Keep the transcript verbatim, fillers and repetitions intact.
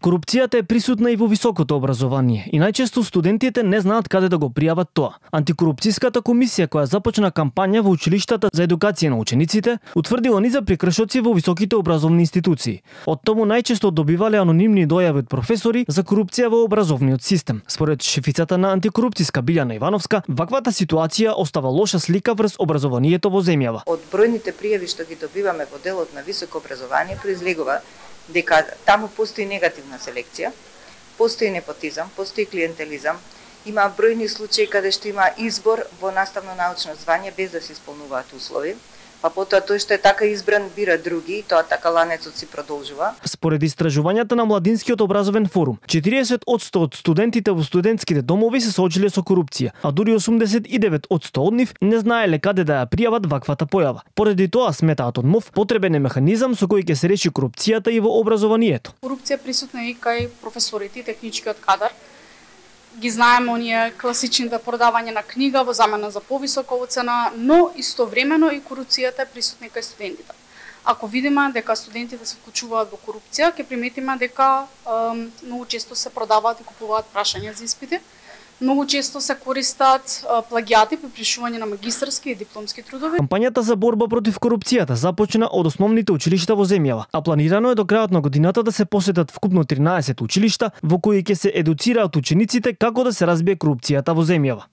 Корупцијата е присутна и во високото образование и најчесто студентите не знаат каде да го пријават тоа. Антикорупцијската комисија која започна кампања во училиштата за едукација на учениците утврдила низа прекршоци во високите образовни институции. Од тому најчесто добивале анонимни дојави од професори за корупција во образовниот систем. Според шефицата на антикорупцијска Билјана Ивановска, ваквата ситуација остава лоша слика врз образованието во земјава. Од бројните пријави што ги добиваме во делот на високо образование произлегува дека таму постои негативна селекција, постои непотизам, постои клиентелизам, има бројни случаи каде што има избор во наставно-научно звање без да се исполнуваат услови, па потоа тој што е така избран бира други и тоа така ланецот си продолжува. Според истражувањата на Младинскиот образовен форум, четириесет одсто од студентите во студентските домови се соочиле со корупција, а дури осумдесет и девет одсто од нив не знаеле каде да ја пријават ваквата појава. Поради тоа сметаат од МОВ потребен е механизам со кој ќе се реши корупцијата и во образованието. Корупција присутна и кај професорите и техничкиот кадар. Ги знаеме оние класичните продавање на книга во замена за повисока оцена, но истовремено и корупцијата е присутна кај студентите. Ако видиме дека студентите се вклучуваат во корупција, ќе приметиме дека е, многу често се продаваат и купуваат прашања за испити. Многу често се користат плагиати при пишување на магистарски и дипломски трудови. Кампањата за борба против корупцијата започна од основните училишта во земјава, а планирано е до крајот на годината да се посетат вкупно тринаесет училишта во кои ќе се едуцираат учениците како да се разбие корупцијата во земјава.